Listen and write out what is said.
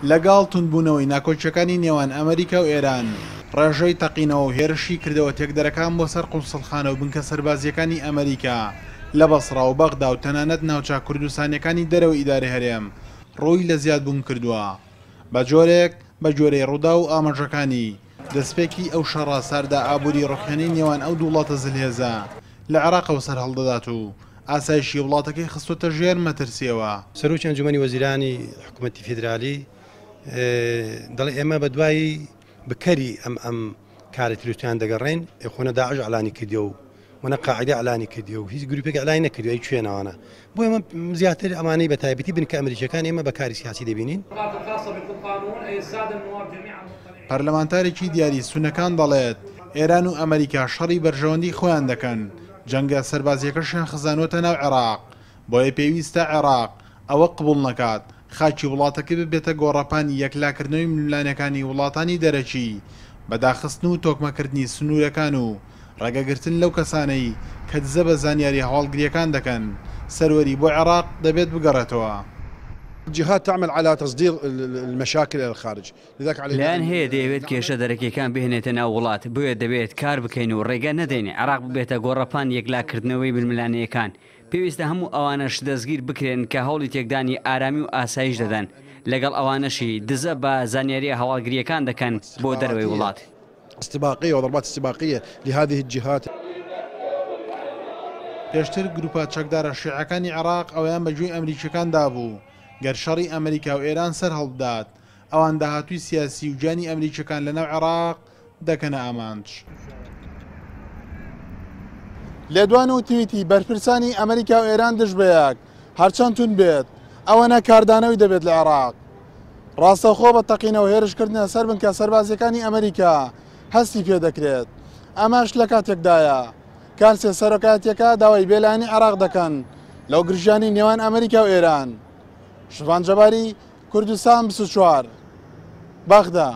لەگەڵ توندبوونەوەی ناکۆکییەکانی نێوان ئەمریکا و ئێران، ڕێژەی تەقینەوە و هێرشی کردەوە تێکدەرەکان بۆ سەر قونسڵخانە و بنکە سەربازییەکانی ئەمریکا لە بەسڕا و بەغدا و تەنانەت ناوچە کوردستانییەکانی دەرەوەی ئیدارەی هەرێم ڕووی لە زیادبوون کردووە بە جۆرێک بە گوێرەی ڕووداو و ئاماژەکانی دەستپێکی ئەو شەڕە ساردە ئابووری ڕوخێنەی نێوان ئەو دوو وڵاتە زلهێزە لە عێراقەوە سەرهەڵدەدات و ئاسایشی وڵاتەکەی خستووەتە ژێر مەترسییەوە. سەرۆکی ئەنجومەنی وەزیرانی حکومەتی فیدرالی دەڵێ ئێمە بە دوای بکەری ئەم ئەم کارە تیرۆریستیان دەگەڕێین، خۆ نە داعش ئەلانی کردیە و و نە قاعدە ئەلانی کردیە و هیچ گروپێک ئەلانی نەکردوە، ئەی کوێن ئەوانە؟ بۆ ئێمە زیاتر ئەمانەی بە تایبەتی بنکە ئەمریکیەکان ئێمە بە کاری سیاسی دەبینین. پەرلەمانتارێکی دیاری سوننەکان دەڵێت، ئێران و ئەمریکا شەڕی بەرژەوەندی خۆیان دەکەن، جەنگە سەربازییەکەشیان خزانووەتە ناو عێراق، بۆیە پێویستە عێراق ئەوە قبوڵ نەکات خاکی وڵاتەکەی ببێتە گۆڕەپانی یەکلاکردنەوەی ململانێکانی وڵاتانی دەرەکی بە داخستن و تۆکمەکردنی سنوورەکان و ڕێگەگرتن لەو کەسانەی کە دزە بە زانیارییە هەواڵگرییەکان دەکەن، سەروەری بۆ عێراق دەبێت بگەڕێتەوە. جهات تعمل على تصدير المشاكل الى الخارج لذلك علينا لایەن هەیە دەیەوێت کێشە دەرەکیەکان بهێنێتە ناو وڵات، بۆیە دەبێت کار بکەین و ڕێگە نەدەین عێراق ببێتە گۆڕەپانی یەکلاکردنەوەی ململانێیەکان، پێویستە هەموو ئەوانەش دەستگیر بکرێن کە هەوڵی تێکدانی ئارامی و ئاسایش دەدەن، لەگەڵ ئەوانەشی دزە بە زانیارییە هەواڵگرییەکان دەکەن بۆ دەرەوەی وڵات. استباقیە وضربات استباقیە لهذه الجهات. پێشتر گروپە چەکدارە شیعەکانی عێراق ئەوەیان بە گوێی ئەمریکییەکان دابوو، گەر شەڕی ئەمریکا و ئێران سەرهەڵبدات، ئەوان داهاتووی سیاسی و گیانی ئەمریکییەکان لەناو عێراق دەکەنە ئامانج. لێدوان و تویتی بەرپرسانی ئەمریکا و ئێران دژ بە یەک، هەرچەند توند بێت، ئەوەنە کاردانەوەی دەبێت لە عێراق. ڕاستەوخۆ بە تەقینەوە هێرشکردنە سەر بنکە سەربازییەکانی ئەمریکا هەستی پێدەکرێت. ئەمەش لە کاتێکدایە، کارسێ سەرۆکایەتییەکە داوای بێلایەنی عێراق دەکەن لەو گرژیانەی نێوان ئەمریکا و ئێران. شڤان جەباری، کوردستان 24، بەغدا.